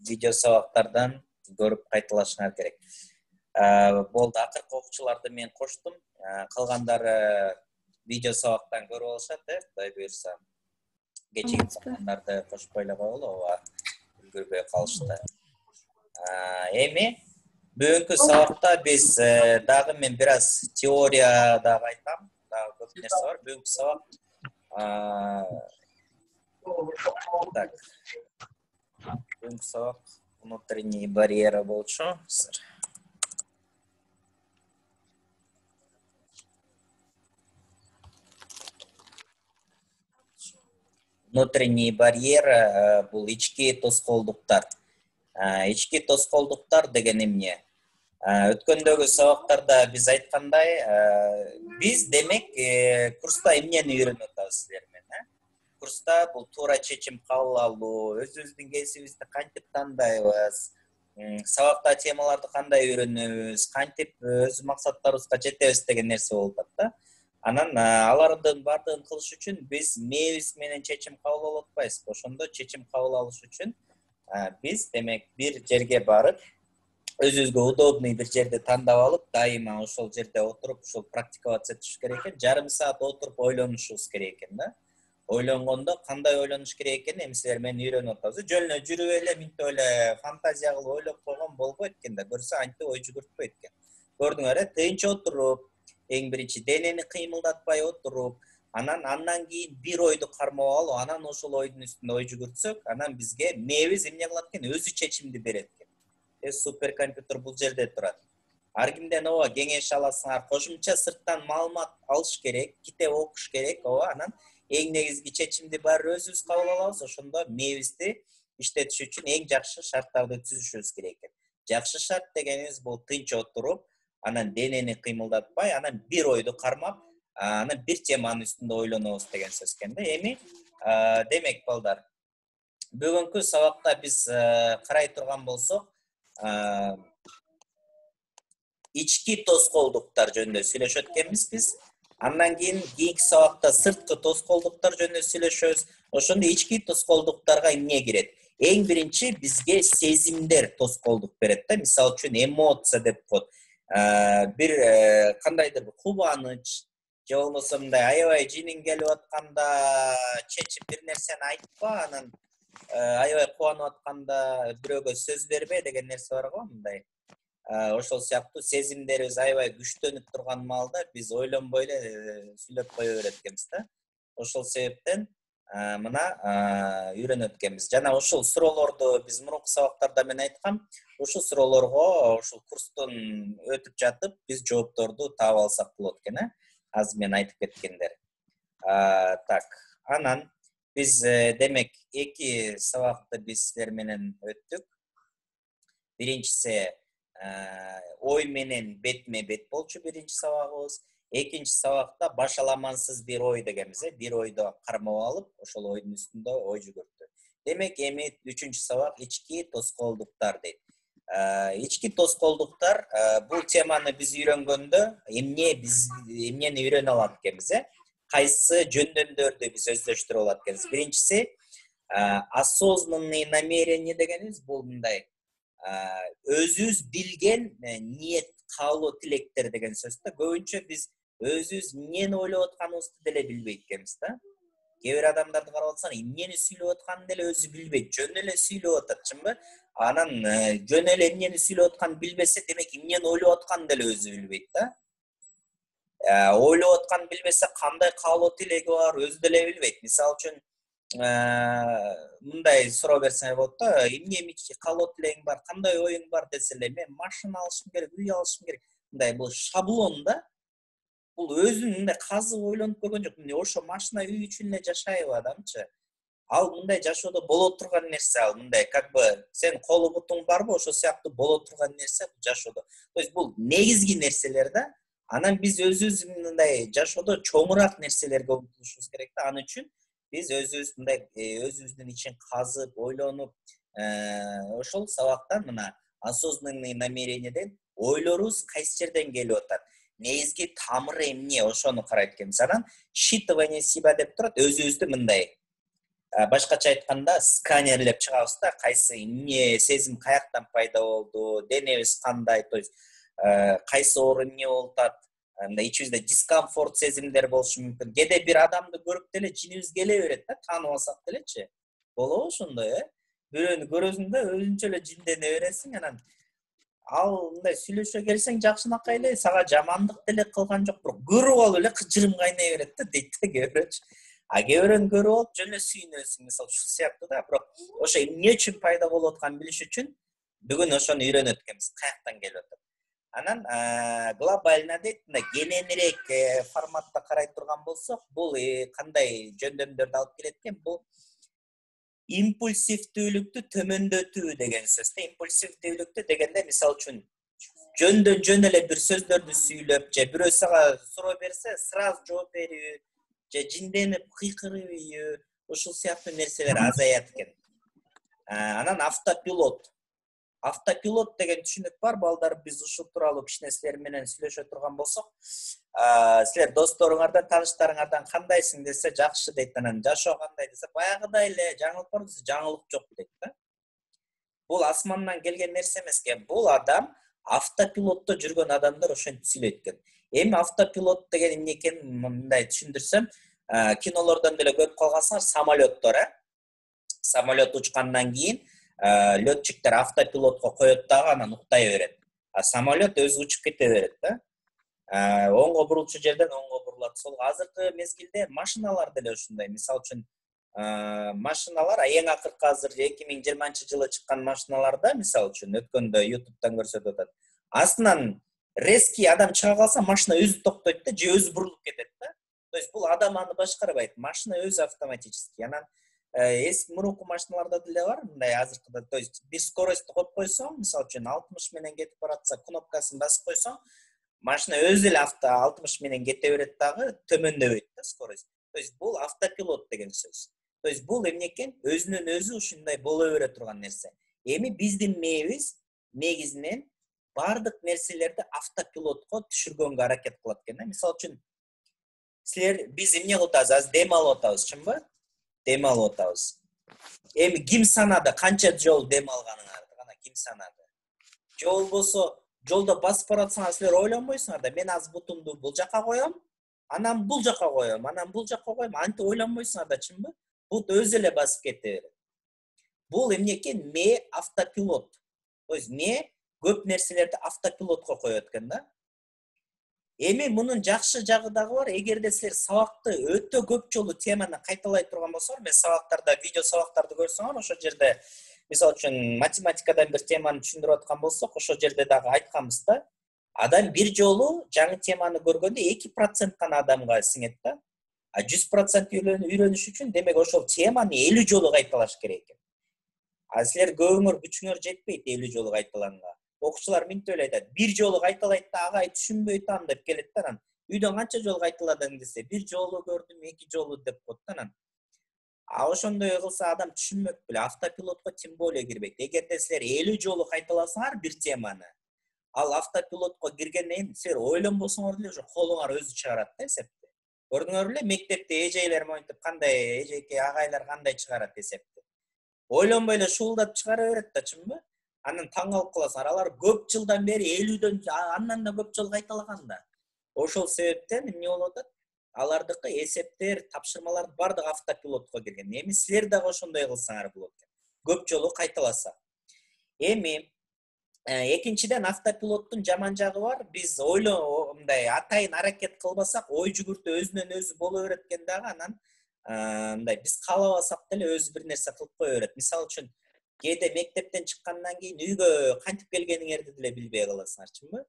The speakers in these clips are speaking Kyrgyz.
видео сабактардан көрүп кайталашыңар керек. Болду, акыркы окуучуларды мен коштум. Калгандары видео сабактан көрүп алышат, Кудай буюрса. Кечеги калгандарды кошпой эле коелу, ооба, үлгүрбөй калышты. Эми бүгүнкү сабакта биз дагы мен бир аз теория дагы айтам, дагы көп нерсе бар. Бүгүнкү сабак так. Бүгүнкү сабак внутренний барьера болчу. Внутренний барьер бул ички тоскоолдуктар. Ички тоскоолдуктар деген эмне? Өткөндөгү сабактарда биз айткандай, биз демек курста эмнени үйрөнүп атабыз силер менен, Курста бул туура чечим кабыл алуу, өзүбүздүн кесибибизди кантип тандайбыз, сабакта темаларды кандай үйрөнөбүз, кантип өз максаттарыбызга жетебиз деген нерсе болуп атат да. Анан алардын баардыгын кылыш үчүн биз мээбиз менен чечим кабыл алып атпайбызбы? Ошондо чечим кабыл алыш үчүн биз демек бир жерге барып, өзүбүзгө удобный бир жерди тандап алып, дайыма ошол жерде отуруп, ошол практиковаться этишибиз керек экен. Жарым саат отуруп ойлонушубуз керек экен да. Ойлонгондо кандай ойлонуш керек экенин эми силер менен үйрөнүп атабыз. Жөн эле жүрүп эле, минтип эле фантазия кылып ойлоп койгон болбойт экен да. Көрсө антип ой жүгүртпөйт экен. Көрдүңөр, тынч отуруп, эң биринчи денени кыймылдатпай отуруп, андан кийин бир ойду кармап алып, анан ошол ойдун үстүндө ой жүгүртсөк, анан бизге мээбиз эмне кылат экен? Өзү чечимди берет экен. Суперкомпьютер бул жерде турат. Ар кимден ооба кеңеш аласыңар, кошумча сырттан маалымат алыш керек, китеп окуш керек, ооба, анан эң негизги чечимди баары өзүбүз кабыл алабыз. Ошондо мээбизди иштетиш үчүн эң жакшы шарттарды түзүшүбүз керек экен. Жакшы шарт дегенибиз бул тынч отуруп, анан денени кыймылдатпай, анан бир ойду кармап, анан бир теманын үстүндө ойлонобуз деген сөз экен да. Эми демек балдар, бүгүнкү сабакта биз карай турган болсок, ички тоскоолдуктар жөнүндө сүйлөшөт экенбиз биз. Андан кийинки сабакта сырткы тоскоолдуктар жөнүндө сүйлөшөбүз. Ошондо ички тоскоолдуктарга эмне кирет? Эң биринчи бизге сезимдер тоскоолдук берет да. Мисалы үчүн эмоция деп коет. Бир кандайдыр кубаныч же болбосо мындай аябай жиниң келип атканда чечип бир нерсени айтпа, анан аябай кубанып атканда бирөөгө сөз бербе деген нерсе бар го, мындай. Ошол сыяктуу сезимдерибиз аябай күчтөнүп турган маалда биз ойлонбой эле сүйлөп кое берет экенбиз да. Ошол себептен мына үйрөнөт экенбиз. Жана ошол суроолорду биз мурунку сабактарда мен айткам, ушул суроолорго ушул курстун өтүп жатып биз жоопторду таап алсак болот экен, Азыр мен айтып кеткендер. Так, анан биз демек эки сабакты биз силер менен өттүк. Биринчиси ой менен бетме бет болчу биринчи сабагыбыз. Экинчи сабакта башаламансыз бир ой дегенбиз, бир ойду кармап алып, ошол ойдун үстүндө ой жүгүртүү. Демек эми үчүнчү сабак ички тоскоолдуктар дейт. Ички тоскоолдуктар бул теманы биз үйрөнгөндө эмнени үйрөнө алат экенбиз, кайсы жөндөмдөрдү биз өздөштүрүп алат экенбиз. Биринчиси осознанный намерение дегенибиз бул мындай өзүбүз билген ниет, каалоо, тилектер деген сөз да. Көбүнчө биз өзүбүз эмнени ойлоп атканыбызды деле билбейт экенбиз да. Кээ бир адамдарды карап атсаң, эмнени сүйлөп атканын деле өзү билбейт, жөн эле сүйлөп атат, чынбы? Анан жөн эле эмнени сүйлөп атканын билбесе, демек эмнени ойлоп атканын деле өзү билбейт да. Ойлоп атканын билбесе, кандай каалоо, тилеги бар, өзү деле билбейт. Мисалы үчүн мындай суроо берсеңер болот да, эмне каалоо тилегиң бар, кандай оюң бар деселе, мен машина алышым керек, үй алышым керек. Мындай бул шаблон да. Бул өзүн мындай казып ойлонуп көргөн жок. Мына ошо машина, үй үчүн эле жашайбы адамчы? Ал мындай жашоодо боло турган нерсе, ал мындай как бы сен колу бутуң барбы, ошол сыяктуу боло турган нерсе бул жашоодо. То есть бул негизги нерселер да. Анан биз өзүбүз мындай жашоодо чоңураак нерселерге умтулушубуз керек да. Ал үчүн биз өзүбүз мындай өзүбүздүн ичин казып, ойлонуп, ошол сабактан мына осознанный намерениеден ойлорубуз кайсы жерден келип атат, негизги тамыры эмне, ошону карайт экенбиз. Анан считывание себя деп турат, өзүбүздү мындай башкача айтканда сканерлеп чыгабыз да, кайсы эмне сезим каяктан пайда болду, денебиз кандай, то есть кайсы оору эмне болуп атат, мындай ичибизде дискомфорт сезимдер болушу мүмкүн. Кээде бир адамды көрүп деле жинибиз келе берет да, таанып алсак делечи. Болобу ошондой, бирөөнү көрөсүң да өзүнчө эле жиндене бересиң, анан ал мындай сүйлөшө келсең жакшынакай эле, сага жамандык деле кылган жок, бирок көрүп алып эле кыжырым кайнай берет да, дейт да кээ бирөөчү. Кээ бирөөнү көрүп алып жөн эле сүйүнөсүң, мисалы ушул сыяктуу да, бирок ошо эмне үчүн пайда болуп атканын билиш үчүн бүгүн ошону үйрөнөт экенбиз, каяктан келип атат. Анан глобально дейт, мындай кененирээк форматта карай турган болсок, бул кандай жөндөмдөрдү алып келет экен? Бул импульсивдүүлүктү төмөндөтүү деген сөз. Импульсивдүүлүктү дегенде, мисалы үчүн жөндөн жөн эле бир сөздөрдү сүйлөп, же бирөө сага суроо берсе, сразу жооп берүү, же жинденип кыйкыруу, ушул сыяктуу нерселер азаят экен. Анан автопилот деген түшүнүк бар. Балдар, биз ушул тууралуу кичине силер менен сүйлөшө турган болсок, силер досторуңардан, тааныштарыңардан кандайсың десе, жакшы дейт. Анан жашоо кандай десе, баягыдай эле, жаңылып бар десе, жаңылык жок дейт да. Бул асмандан келген нерсе эмес экен. Бул адам автопилотто жүргөн адамдар ошентип сүйлөйт экен. Эми автопилот деген эмне экенин мындай түшүндүрсөм, кинолордон деле көрүп калгансыңар, самолеттор, самолет учкандан кийин летчиктер автопилотко коет дагы, анан уктай берет. Самолет өзү учуп кете берет да. Оңго бурулчу жерден оңго бурулат. Сол азыркы мезгилде машиналар деле ушундай. Мисалы үчүн машиналар эң акыркы азыр 2020-жылы чыккан машиналарда, мисалы үчүн өткөндө YouTube'дан көрсөтүп атат. Астынан резкий адам чыга калса, машина өзү токтойт да, же өзү бурулуп кетет да. То есть бул адам аны башкарбайт, машина өзү автоматически. Анан эски мурунку машиналарда деле бар, мындай азыркыда, то есть бир скоростьту коюп койсоң, мисалы үчүн 60 менен кетип баратса, кнопкасын басып койсоң, машина өзү эле 60 менен кете берет дагы, төмөндөбөйт да скорость. То есть бул автопилот деген сөз. То есть бул эмне экен? Өзүнөн өзү ушундай боло бере турган нерсе. Эми биздин мээбиз негизинен бардык нерселерди автопилотко түшүргөнгө аракет кылат экен. Мисалы үчүн силер биз эмне кылып атабыз? Азыр дем алып атабыз, чынбы? Дем алып атабыз. Эми ким санады канча жол дем алганыңарды? Кана ким санады? Же болбосо жолдо басып баратсаңар силер ойлонбойсуңар да, мен азыр бутумду бул жака коём, анан бул жака коём, анан бул жака коём, антип ойлонбойсуңар да, чынбы? Бут өзү эле басып кете берет. Бул эмне экен? Мээ автопилот. То есть мээ көп нерселерди автопилотко коет экен да. Эми мунун жакшы жагы дагы бар. Эгерде силер сабакты өтө көп жолу теманы кайталай турган болсоңор, мен сабактарда видео сабактарды көрсөңөр, ошол жерде мисалы үчүн математикадан бир теманы түшүндүрүп аткан болсок, ошол жерде дагы айтканбыз да. Адам бир жолу жаңы теманы көргөндө 2% гана адамга сиңет да. 100% үйрөнүш үчүн демек ошол теманы 50 жолу кайталаш керек экен. Силер көбүңөр күчүңөр жетпейт 50 жолу кайталаганга. Окуучулар минтип эле айтат, бир жолу кайталайт да, агай түшүнбөй атам деп келет да, анан үйдөн канча жолу кайталадың десе, бир жолу көрдүм, 2 жолу деп коет да, анан. Ошондой кылса адам түшүнмөк беле, автопилотко тем более кирбейт. Эгерде силер 50 жолу кайталасаңар бир теманы, ал автопилотко киргенден кийин силер ойлонбосоңор деле ошо колуңар өзү чыгарат да эсепти. Көрдүңөр беле, мектепте эжейлер монтип кандай, эжеке агайлар кандай чыгарат эсепти. Ойлонбой эле шуулдап чыгара берет да, чынбы? Анан таң калып каласыңар, алар көп жылдан бери 50дөн андан да көп жол кайталаган да. Ошол себептен эмне болуп атат? Алардыкы эсептер, тапшырмалар бардыгы автопилотко кирген. Эми силер дагы ошондой кылсаңар болот экен. Көп жолу кайталаса. Эми экинчиден автопилоттун жаман жагы бар. Биз мындай атайын аракет кылбасак, ой жүгүртүү өзүнөн өзү боло берет экен дагы, анан мындай биз каалабасак деле өзү бир нерсе кылып кое берет. Мисалы үчүн кээде мектептен чыккандан кийин үйгө кантип келгениңерди деле билбей каласыңар, чынбы?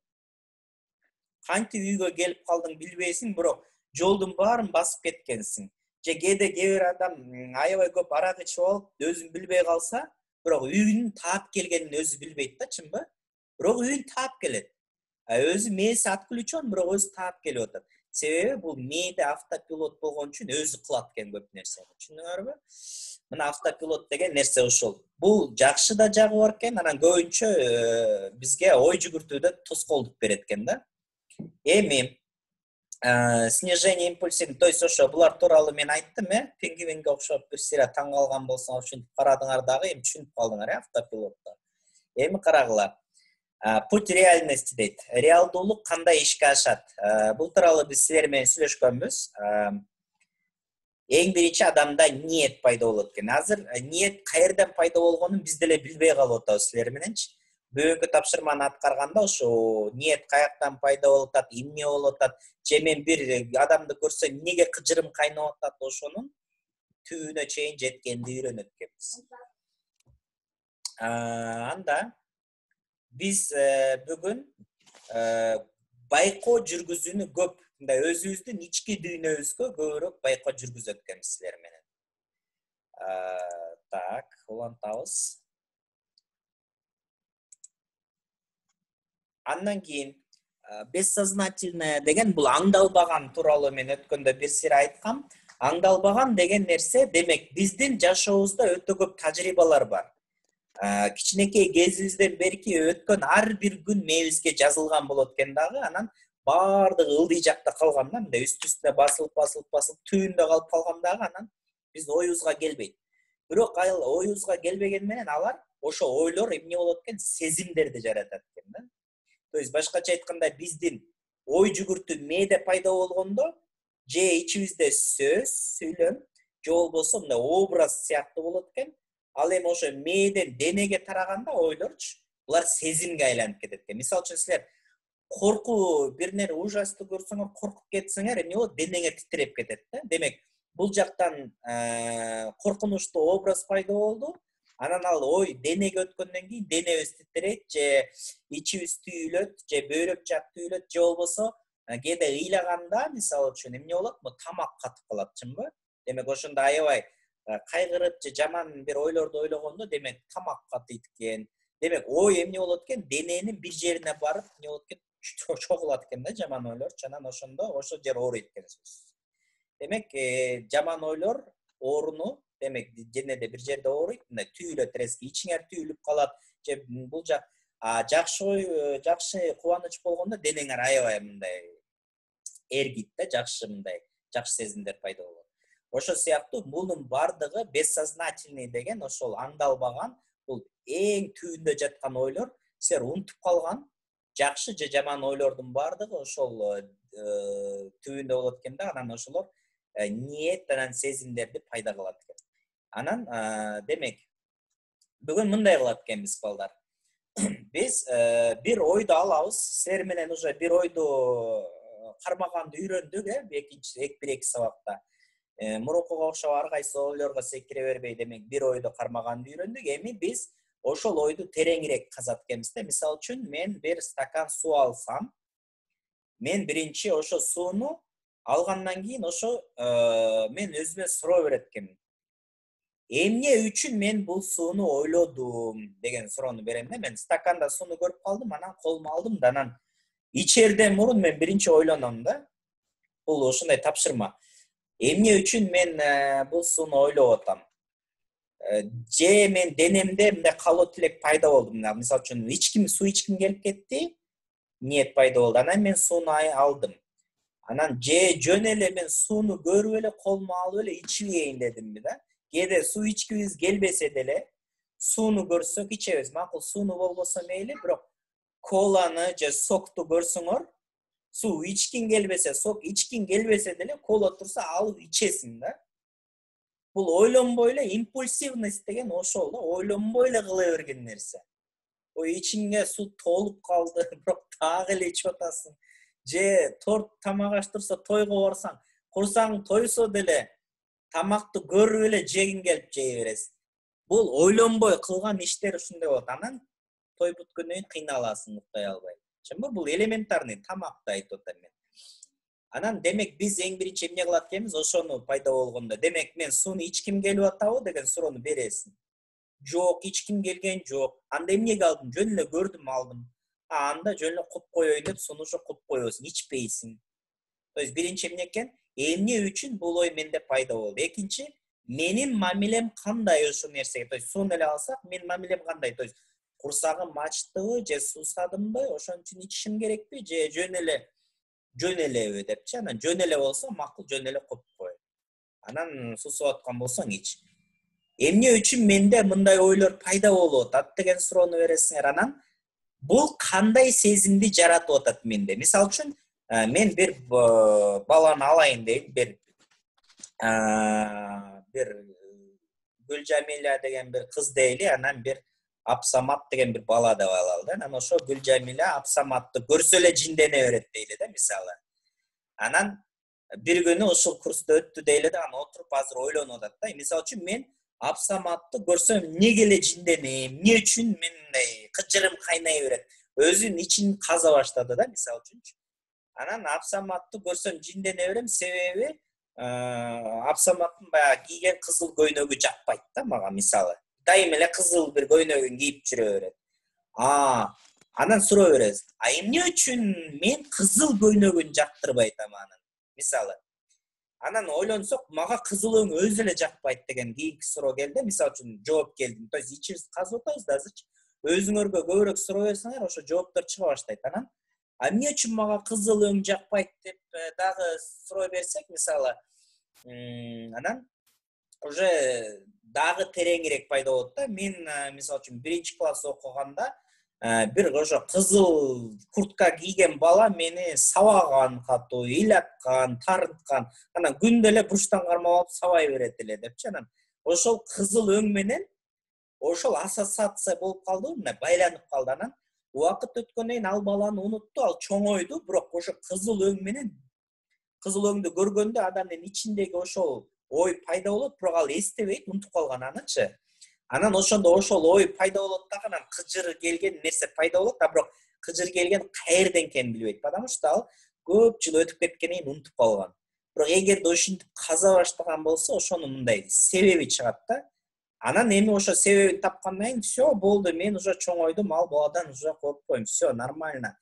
Кантип үйгө келип калдың билбейсиң, бирок жолдун баарын басып кеткенсиң. Же кээде кээ бир адам аябай көп арак ичип алып, өзүн билбей калса, бирок үйүнүн таап келгенин өзү билбейт да, чынбы? Бирок үйүн таап келет. Өзү мээси отключен, бирок өзү таап келип атат. Себеби бул мээде автопилот болгон үчүн өзү кылат экен көп нерсени. Түшүндүңөрбү? Мына автопилот деген нерсе ошол. Бул жакшы да жагы бар экен, анан көбүнчө бизге ой жүгүртүүдө тоскоолдук берет экен да. Эми снижение импульсин, то есть ошо булар тууралуу мен айттым, пингвинге окшоп бир сыйра таң калган болсоңор ушинтип карадыңар дагы, эми түшүнүп калдыңар, автопилотто. Эми карагыла. Путь реальности дейт. Реалдуулук кандай ишке ашат? Бул тууралуу биз силер менен сүйлөшкөнбүз. Эң биринчи адамда ниет пайда болот экен. Азыр ниет каерден пайда болгонун биз деле билбей калып атабыз силер мененчи. Бүгүнкү тапшырманы аткарганда ошо ниет каяктан пайда болуп атат, эмне болуп атат, же мен бир адамды көрсөм эмнеге кыжырым кайнап атат, ошонун түбүнө чейин жеткенди үйрөнөт экенбиз. Анда биз бүгүн байкоо жүргүзүүнү көп, мындай өзүбүздүн ички дүйнөбүзгө көбүрөөк байкоо жүргүзөт экенбиз силер менен. Так, улантабыз. Андан кийин бессознательное деген бул аңдалбаган тууралуу мен өткөндө бир сыйра айткам. Аңдалбаган деген нерсе, демек биздин жашообузда өтө көп тажрыйбалар бар. Кичинекей кезибизден берки өткөн ар бир күн мээбизге жазылган болот экен дагы, анан баардыгы ылдый жакта калган да, мындай үстүнө басылып түбүндө калып калган дагы, анан биз оюбузга келбейт. Бирок оюбузга келбеген менен алар ошо ойлор эмне болот экен, сезимдерди жаратат экен да. То есть башкача айтканда биздин ой жүгүртүү мээде пайда болгондо, же ичибизде сөз, сүйлөм, же болбосо мындай образ сыяктуу болот экен. Ал эми ошо мээден денеге тараганда ойлорчу, булар сезимге айланып кетет экен. Мисалы үчүн силер коркуу бир нерсе ужастуу көрсөңөр, коркуп кетсеңер, эмне болот? Денеге титиреп кетет да. Демек, бул жактан коркунучтуу образ пайда болду. Анан ал ой денеге өткөндөн кийин денебиз титирейт, же ичибиз түйүлөт, же бөйрөк жак түйүлөт, же болбосо кээде ыйлаганда, мисалы үчүн эмне болот? Бу тамак катып калат, чынбы? Демек, ошондо аябай кайгырып же жаман бир ойлорду ойлогондо, демек тамак катыйт экен. Демек, ой эмне болот экен? Дененин бир жерине барып, эмне болот экен? Чогулат экен да, жаман ойлорчу. Анан ошондо ошол жер ооруйт экен сөзсүз. Демек, жаман ойлор ооруну, демек, денеде бир жерде ооруйт, мындай түйүлөт, резки ичиңер түйүлүп калат, же бул жак жакшы ой, жакшы кубаныч болгондо денеңер аябай мындай эргийт да, жакшы мындай жакшы сезимдер пайда болот. Ошо сыяктуу мунун бардыгы бессознательный деген ошол аңдалбаган, бул эң түбүндө жаткан ойлор, силер унутуп калган жакшы же жаман ойлордун бардыгы ошол түбүндө болот экен да, анан ошолор ниет анан сезимдерди пайда кылат экен. Анан демек бүгүн мындай кылат экенбиз балдар. Биз бир ойду алабыз, силер менен уже бир ойду кармаганды үйрөндүк, бир-эки сабакта. Мурункуга окшоп ар кайсы ойлорго секире бербей, демек бир ойду кармаганды үйрөндүк. Эми биз ошол ойду тереңирээк казат экенбиз да. Мисалы үчүн мен бир стакан суу алсам, мен биринчи ошо сууну алгандан кийин ошо мен өзүмө суроо берет экенмин. Эмне үчүн мен бул сууну ойлодум деген суроону берем да. Мен стаканда сууну көрүп калдым, анан колума алдым да, анан ичерден мурун мен биринчи ойлоном да. Бул ошондой тапшырма. Эмне үчүн мен бул сууну ойлоп атам? Же мен денемде мындай калуу тилек пайда болду. Мисалы үчүн суу ичким келип кетти, ниет пайда болду. Анан мен сууну алдым. Анан же жөн эле мен сууну көрүп эле колума алып эле ичибейин дедимби да. Кээде суу ичкибиз келбесе деле, сууну көрсөк ичебиз. Макул сууну болбосо мейли, бирок коланы же сокту көрсөңөр, суу ичкиң келбесе, сок ичкиң келбесе деле, кола турса алып ичесиң да. Бул ойлонбой эле, импульсивность деген ошол да, ойлонбой эле кыла берген нерсе. Ой ичиңге суу толуп калды, бирок дагы эле ичип атасың. Же торт тамак аш турса, тойго барсаң, курсаң тойсо деле тамакты көрүп эле жегиң келип жей бересиң. Бул ойлонбой кылган иштер ушундай болот. Анан той бүткөндөн кийин кыйналасың, уктай албай. Чынбы? Бул элементарный тамакты айтып атам мен. Анан демек биз эң биринчи эмне кылат экенбиз? Ошону пайда болгондо, демек мен сууну ичким келип атабы деген суроону бересиң. Жок, ичким келген жок. Анда эмнеге алдым? Жөн эле көрдүм, алдым. Анда жөн эле куп коеюн деп сууну ошо куп коесуң, ичпейсиң. То есть биринчи эмне экен? Эмне үчүн бул ой менде пайда болду? Экинчи, менин мамилем кандай ошол нерсеге? То есть сууну эле алсак, менин мамилем кандай? То есть курсагым ачтыбы же суусадымбы? Ошон үчүн ичишим керекпи? Же жөн эле жөн элеби депчи. Анан жөн эле болсо макул жөн эле коюп кой. Анан сусуп аткан болсоң ич. Эмне үчүн менде мындай ойлор пайда болуп атат деген суроону бересиңер. Анан бул кандай сезимди жаратып атат менде? Мисалы үчүн, мен бир баланы алайын дейм, бир Гүлжамиля деген бир кыз дейли, анан бир Апсамат деген бир бала деп алалы да. Анан ошо Гүлжамиля Апсаматты көрсө эле жиндене берет дейли да, мисалы. Анан бир күнү ушул курста өттү дейли да, анан отуруп азыр ойлонуп атат да. Мисалы үчүн мен Апсаматты көрсөм эмнеге эле жинденем, эмне үчүн мындай кыжырым кайнай берет? Өзүнүн ичин каза баштады да, мисалы үчүнчү. Анан Апсаматты көрсөм жиндене берем, себеби Апсаматтын баягы кийген кызыл көйнөгү жакпайт да мага, мисалы. Дайыма эле кызыл бир көйнөгүн кийип жүрө берет. Анан суроо бересиз. Эмне үчүн мен кызыл көйнөгүн жактырбайт анын? Мисалы. Анан ойлонсок, мага кызыл өң өзү эле жакпайт деген кийинки суроо келди. Мисалы үчүн жооп келдим. То есть ичибизди казып атабыз да азырчы. Өзүңөргө көбүрөөк суроо берсеңер, ошо жооптор чыга баштайт. Анан эмне үчүн мага кызыл өң жакпайт деп дагы суроо берсек, мисалы, анан уже дагы тереңирээк пайда болот да. Мен мисалы үчүн 1-класс окуганда бир ошо кызыл куртка кийген бала мени сабаган катуу, ыйлаткан, тарынткан. Анан күндө эле бурчтан кармап алып сабай берет эле депчи. Анан ошол кызыл өң менен ошол ассоциация болуп калды, мына байланып калды. Анан убакыт өткөндөн кийин ал баланы унутту, ал чоңойду, бирок ошо кызыл өң менен кызыл өңдү көргөндө адамдын ичиндеги ошол ой пайда болот, бирок ал эстебейт, унутуп калган анычы. Анан ошондо ошол ой пайда болот дагы, анан кыжыр келген нерсе пайда болот, бирок кыжыр келген каерден экенин билбейт, потому что ал көп жыл өтүп кеткенден кийин унутуп калган. Бирок эгерде ушинтип каза баштаган болсо, ошонун мындай себеби чыгат да. Анан эми ошо себебин тапкандан кийин все болду, мен уже чоңойдум, ал баладан уже коркпойм, все нормально.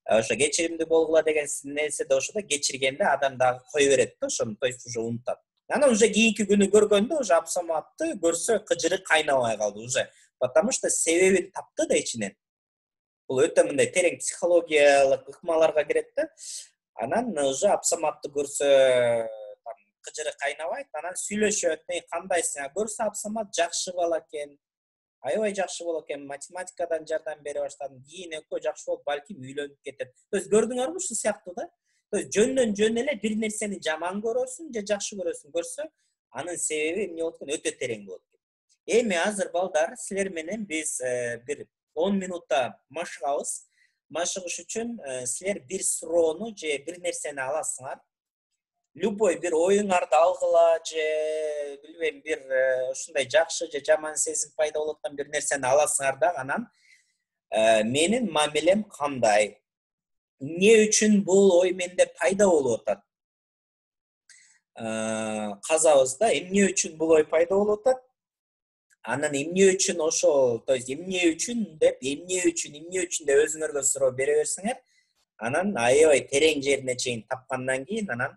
Ошо кечиримдүү болгула деген нерседе ошодо кечиргенде адам дагы кое берет да ошону, то есть уже унутат. Анан уже кийинки күнү көргөндө уже Апсаматты көрсө кыжыры кайнабай калды уже, потому что себебин тапты да ичинен. Бул өтө мындай терең психологиялык ыкмаларга кирет да. Анан уже Апсаматты көрсө кыжыры кайнабайт, анан сүйлөшөт. Кандайсың? Көрсө Апсамат жакшы бала экен. Аябай жакшы бала экен, математикадан жардам бере баштадым. Кийин экөө жакшы болуп, балким үйлөнүп кетет. То есть көрдүңөрбү ушул сыяктуу да? То есть жөндөн жөн эле бир нерсени жаман көрөсүң же жакшы көрөсүң, көрсө, анын себеби эмне болот экен, өтө терең болот экен. Эми азыр балдар, силер менен биз бир 10 минутта машыгабыз. Машыгыш үчүн силер бир суроону же бир нерсени аласыңар. Любой бир оюңарды алгыла же билбейм бир ушундай жакшы же жаман сезим пайда болуп аткан бир нерсени аласыңар да, анан менин мамилем кандай? Эмне үчүн бул ой менде пайда болуп атат? Казабыз да, эмне үчүн бул ой пайда болуп атат? Анан эмне үчүн ошол, то есть эмне үчүн деп деп өзүңөргө суроо бере берсеңер, анан аябай терең жерине чейин тапкандан кийин анан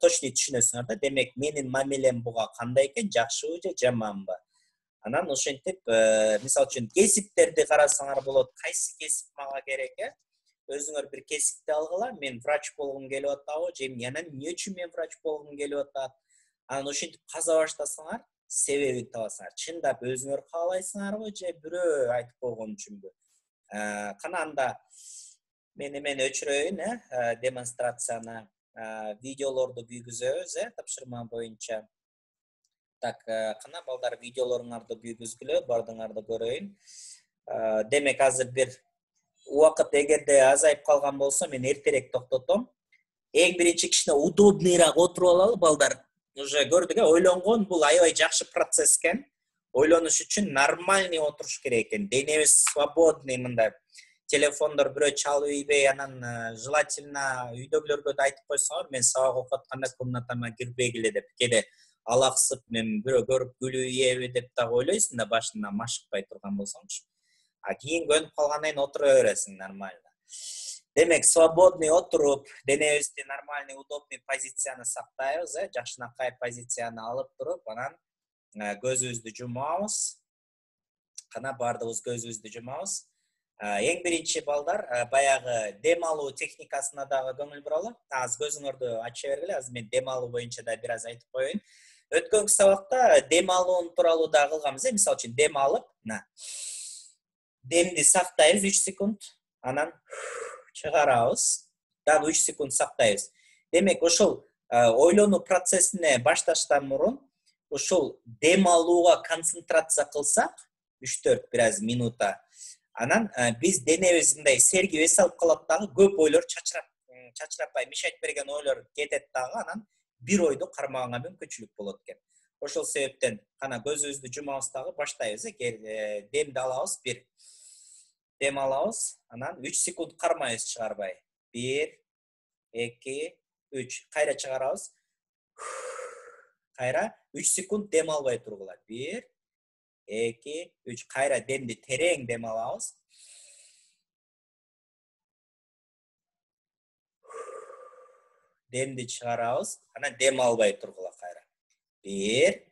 точно түшүнөсүңөр да, демек менин мамилем буга кандай экен, жакшыбы же жаманбы. Анан ошентип, мисалы үчүн кесиптерди карасаңар болот, кайсы кесип мага керек, өзүңөр бир кесипти алгыла, мен врач болгум келип атабы, же анан эмне үчүн мен врач болгум келип атат. Анан ошентип каза баштасаңар, себебин табасыңар. Чындап өзүңөр каалайсыңарбы же бирөө айтып койгон үчүнбү? Кана анда мен эмени өчүрөйүн, демонстрацияны, видеолорду күйгүзөбүз, тапшырма боюнча. Так, кана балдар видеолоруңарды күйгүзгүлө, бардыңарды көрөйүн. Демек азыр бир убакыт эгерде азайып калган болсо, мен эртерээк токтотом. Эң биринчи кичине удобныйраак отуруп алалы балдар. Уже көрдүк, ойлонгон бул аябай жакшы процесс экен. Ойлонуш үчүн нормальный отуруш керек экен. Денебиз свободный мындай. Телефондор бирөө чалып ийбей, анан желательно үйдөгүлөргө да айтып койсоңор, мен сабак окуп атканда комнатама кирбегиле деп. Кээде алаксып, мен бирөө көрүп күлүп ийеби деп дагы ойлойсуң да, башында машыкпай турган болсоңчу. Кийин көнүп калгандан кийин отура бересиң нормально. Демек, свободный отуруп, денебизди нормальный, удобный позицияны сактайбыз, жакшынакай позицияны алып туруп, анан көзүбүздү жумабыз. Кана бардыгыбыз көзүбүздү жумабыз. Эң биринчи балдар баягы дем алуу техникасына дагы көңүл буралы. Азыр көзүңөрдү ача бергиле. Азыр мен дем алуу боюнча да бир аз айтып коеюн. Өткөнкү сабакта дем алуу тууралуу да кылганбыз. Мисалы үчүн дем алып, демди сактайбыз 3 секунд, анан чыгарабыз. Дагы 3 секунд сактайбыз. Демек, ошол ойлонуу процессине башташтан мурун ушул дем алууга концентрация кылсак, 3-4 бир аз минута, анан биз денебиз мындай сергип эс алып калат дагы, көп ойлор чачырапай мешайт берген ойлор кетет дагы, анан бир ойду кармаганга мүмкүнчүлүк болот экен. Ошол себептен кана көзүбүздү жумабыз дагы баштайбыз. Демди алабыз, бир дем алабыз, анан 3 секунд кармайбыз чыгарбай. 1, 2, 3. Кайра чыгарабыз. Кайра 3 секунд дем албай тургула. 1, 2, 3. Кайра демди терең дем алабыз. Демди чыгарабыз, анан дем албай тургула кайра. 1,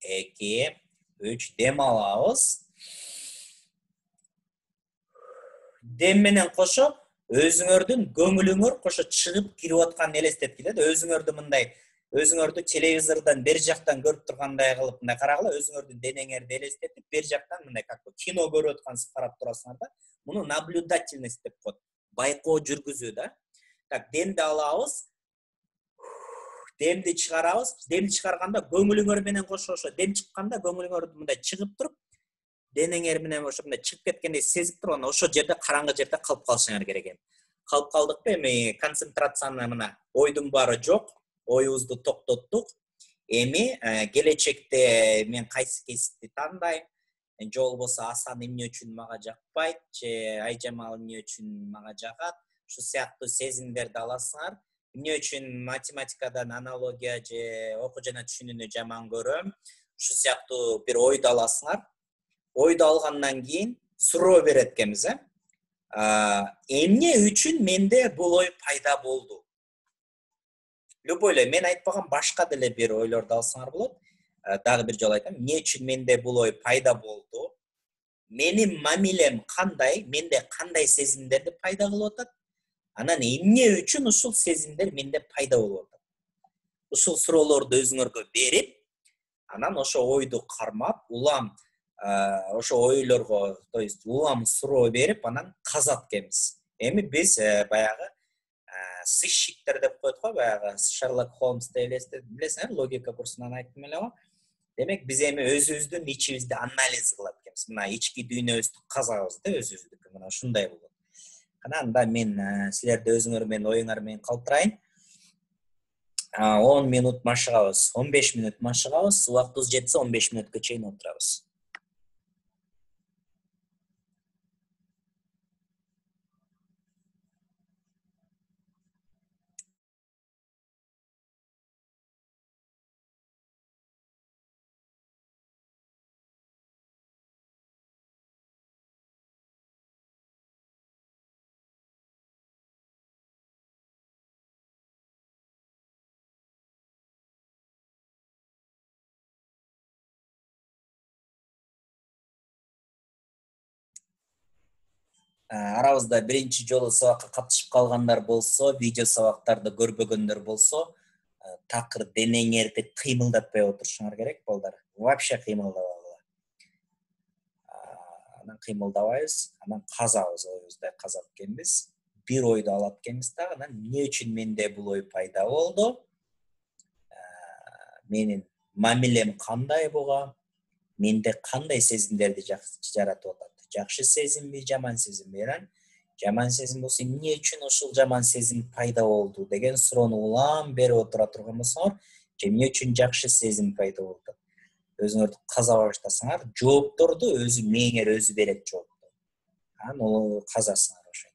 2, 3. Дем алабыз. Дем менен кошо өзүңөрдүн көңүлүңөр кошо чыгып кирип атканын элестеткиле. Өзүңөрдү мындай, өзүңөрдү телевизордон бер жактан көрүп тургандай кылып мындай карагыла, өзүңөрдүн денеңерди элестетип, бер жактан мындай как кино көрүп аткансыз карап турасыңар да. Муну наблюдательность деп коет. Байкоо жүргүзүү да. Так, демди алабыз. Демди чыгарабыз. Демди чыгарганда көңүлүңөр менен кошо ошо дем чыкканда көңүлүңөр мындай чыгып туруп, денеңер менен ошо мындай чыгып кеткендей сезип туруп, анан ошо жерде караңгы жерде калып калышыңар керек эми. Калып калдыкпы, эми концентрацияны мына ойдун баары жок, оюбузду токтоттук. Эми келечекте мен кайсы кесипти тандайм, же болбосо Асан эмне үчүн мага жакпайт, же Айжамал эмне үчүн мага жагат, ушул сыяктуу сезимдерди аласыңар. Эмне үчүн математикадан аналогия же окуу жана түшүнүүнү жаман көрөм, ушул сыяктуу бир ойду аласыңар. Ойду алгандан кийин суроо берет экенбиз, эмне үчүн менде бул ой пайда болду? Любой эле мен айтпаган башка деле бир ойлорду алсаңар болот. Дагы бир жолу айтам, эмне үчүн менде бул ой пайда болду? Менин мамилем кандай? Менде кандай сезимдерди пайда кылып атат? Анан эмне үчүн ушул сезимдер менде пайда болуп атат? Ушул суроолорду өзүңөргө берип, анан ошо ойду кармап, улам ошо ойлорго, то есть улам суроо берип, анан казат экенбиз. Эми биз баягы сыщиктер деп коет го, баягы Шерлок Холмсты билесиңер, логика курсунан айттым эле го. Демек, биз эми өзүбүздүн ичибизди анализ кылат экенбиз. Мына ички дүйнөбүздү казабыз да, өзүбүздүкү. Мына ушундай болот. Анда мен силерди өзүңөр менен оюңар менен калтырайын. 10 минут машыгабыз, 15 минут машыгабыз. Убактыбыз жетсе 15 минутка чейин отурабыз. Арабызда биринчи жолу сабакка катышып калгандар болсо, видео сабактарды көрбөгөндөр болсо, такыр денеңерди кыймылдатпай отурушуңар керек, балдар. Вообще кыймылдабагыла. Анан кыймылдабайбыз, анан казабыз, оюбузду казат экенбиз. Бир ойду алат экенбиз дагы, анан эмне үчүн менде бул ой пайда болду? Менин мамилем кандай буга? Менде кандай сезимдерди жаратып атат? Жакшы сезимби, жаман сезимби? Жаман сезим болсо эмне үчүн ушул жаман сезим пайда болду деген суроону улам берип отура турган болсоңор, же эмне үчүн жакшы сезим пайда болду? Өзүңөрдү каза баштасаңар, жоопторду өзү мээңер өзү берет жоопту. Анан казасыңар ошентип.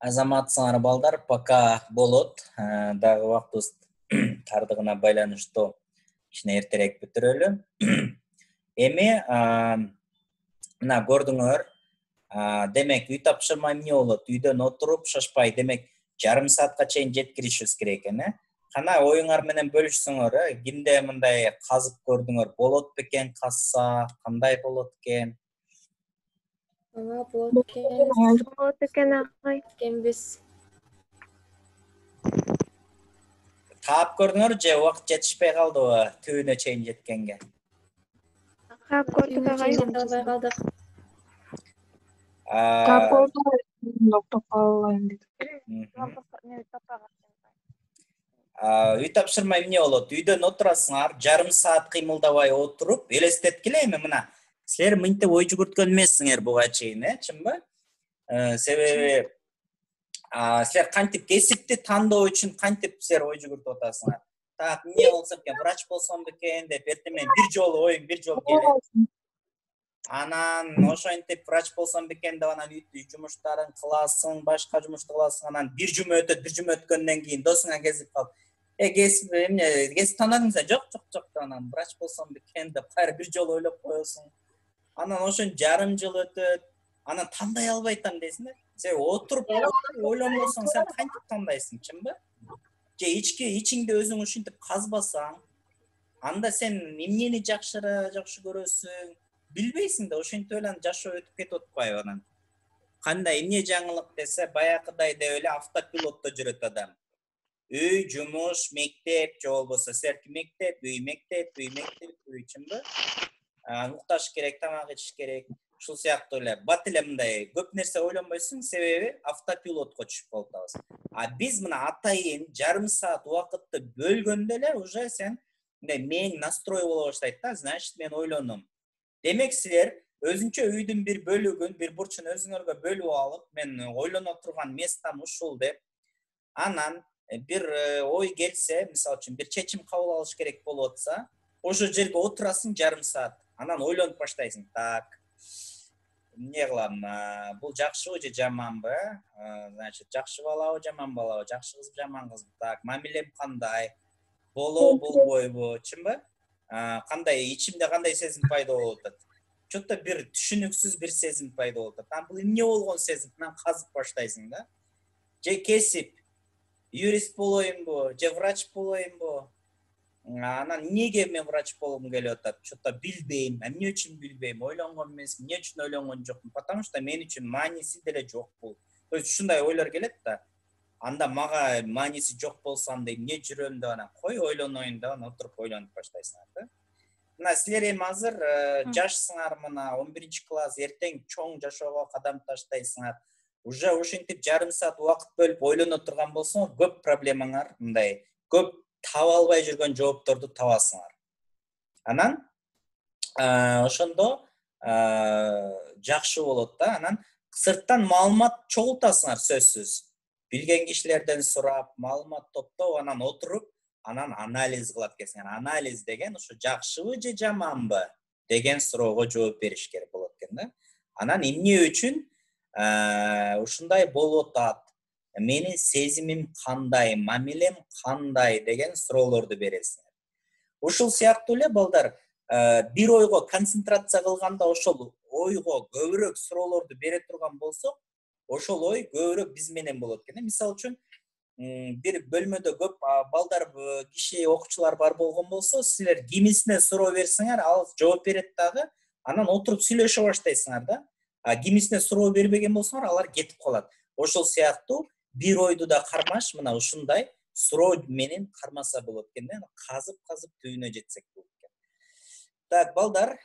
Азаматсыңар балдар, пока болот. Дагы убактыбыз тардыгына байланыштуу кичине эртерээк бүтүрөлү. Эми мына көрдүңөр, демек үй тапшырма эмне болот? Үйдөн отуруп шашпай, демек жарым саатка чейин жеткиришибиз керек экен, Кана оюңар менен бөлүшсөңөр, кимде мындай казып көрдүңөр? Болот бекен казса, кандай болот экен? Болот экен агай. Кембиз. Таап көрдүңөр же убакыт жетишпей калдыбы түбүнө чейин жеткенге? Таап көрдүк агай. Албай калдык. Таап көрдүк, токтоп калайын деп. Үй тапшырма эмне болот? Үйдөн отурасыңар, жарым саат кыймылдабай отуруп, элестеткиле эми мына. Силер мынтип ой жүгүрткөн эмессиңер буга чейин, чынбы? Себеби силер кантип кесипти тандоо үчүн кантип силер ой жүгүртүп атасыңар? Так, эмне болсом экен, врач болсом бекен деп эртең бир жолу оюң бир жолу келет. Анан ошентип врач болсом бекен деп анан үй жумуштарын кыласың, башка жумушту кыласың, анан бир жума өтөт, бир жума өткөндөн кийин досуңа кезип калып, кесип эмне, кесип тандадыңызбы? Жок, анан врач болсом бекен деп кайра бир жолу ойлоп коесуң. Анан ошон жарым жыл өтөт, анан тандай албай атам дейсиң да. Сен отуруп ойлонбосоң сен кантип тандайсың, чынбы? Же ичиңде өзүң ушинтип казбасаң, анда сен эмнени жакшы көрөсүң, билбейсиң да, ошентип эле жашоо өтүп кетип атпайбы анан. Кандай эмне жаңылык десе, баягыдай деп эле автопилотто жүрөт адам. Үй, жумуш, мектеп, же болбосо силерки мектеп, үй, чынбы? Укташ керек, тамак ичиш керек. Ушул сыяктуу эле бат эле мындай көп нерсе ойлонбойсуң, себеби автопилотко түшүп калып атабыз. Биз мына атайын жарым саат убакытты бөлгөндө эле уже сен мындай мээң настрой боло баштайт да, значит мен ойлоном. Демек силер өзүнчө үйдүн бир бөлүгүн, бир бурчун өзүңөргө бөлүп алып, мен ойлоно турган местам ушул деп, анан бир ой келсе, мисалы үчүн бир чечим кабыл алыш керек болуп атса, ошол жерге отурасың жарым саат, анан ойлонуп баштайсың. Так, эмне кылам? Бул жакшыбы же жаманбы? Значит, жакшы балабы, жаман балабы, жакшы кызбы, жаман кызбы? Так, мамилем кандай? Болобу, болбойбу, чынбы? Кандай ичимде кандай сезим пайда болуп атат? Чөтө бир түшүнүксүз бир сезим пайда болуп атат. Бул эмне болгон сезим? Анан казып баштайсың да. Же кесип юрист болоюмбу, же врач болоюмбу? Анан эмнеге мен врач болгум келип атат? Чөтө билбейм. Эмне үчүн билбейм? Ойлонгон эмесмин. Эмне үчүн ойлонгон жокмун? Потому что мен үчүн мааниси деле жок бул. То есть ушундай ойлор келет да. Анда мага мааниси жок болсо анда эмне жүрөм деп анан кой ойлоноюн деп анан отуруп ойлонуп баштайсыңар да. Мына силер эми азыр жашсыңар, мына 11-класс, эртең чоң жашоого кадам таштайсыңар. Уже ошентип жарым саат убакыт бөлүп ойлоно турган болсоңор, көп проблемаңар, мындай көп таба албай жүргөн жоопторду табасыңар. Анан ошондо жакшы болот да. Анан сырттан маалымат чогултасыңар сөзсүз. Билген кишилерден сурап, маалымат топтоп, анан отуруп, анан анализ кылат экенсиңер. Анализ деген ушу жакшыбы же жаманбы деген суроого жооп бериш керек болот экен да. Анан эмне үчүн ушундай болуп атат? Менин сезимим кандай, мамилем кандай деген суроолорду бересиңер. Ушул сыяктуу эле балдар, бир ойго концентрация кылганда ошол ойго көбүрөөк суроолорду бере турган болсок, ошол ой көбүрөөк биз менен болот экен. Мисалы үчүн, бир бөлмөдө көп балдар, киши, окуучулар бар болгон болсо, силер кимисине суроо берсеңер, ал жооп берет дагы, анан отуруп сүйлөшө баштайсыңар да. Кимисине суроо бербеген болсоңор, алар кетип калат. Ошол сыяктуу бир ойду да кармаш, мына ушундай суроо менен кармаса болот экен да. Казып түбүнө жетсек болот экен. Так, балдар,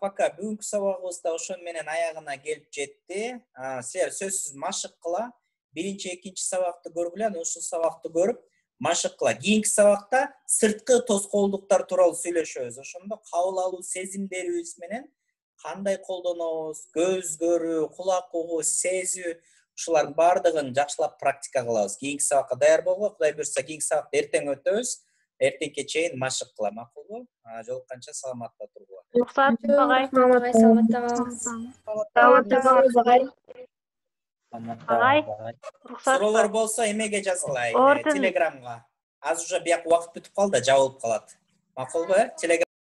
пока бүгүнкү сабагыбыз да ошон менен аягына келип жетти. Силер сөзсүз машык кыла. Биринчи, экинчи сабакты көргүлө, анан ушул сабакты көрүп машык кыла. Кийинки сабакта сырткы тоскоолдуктар тууралуу сүйлөшөбүз. Ошондо кабыл алуу сезимдерибиз менен кандай колдонобуз, көз көрүү, кулак угуу, сезүү, ушулардын баардыгын жакшылап практика кылабыз. Кийинки сабакка даяр болгула. Кудай буйрса, кийинки сабакты эртең өтөбүз. Эртеңке чейин машык кыла, макулбу? Жолукканча саламатта тургула. Рухсат, агай. Саламатта калыңыз. Саламатта калыңыз, агай. Агай, уруксат Суроолор бар. болсо эмеге жазгылай? Ордун. Телеграмга. Азыр уже бияк убакыт бүтүп калды, жабылып калат. Макулбу? Телеграм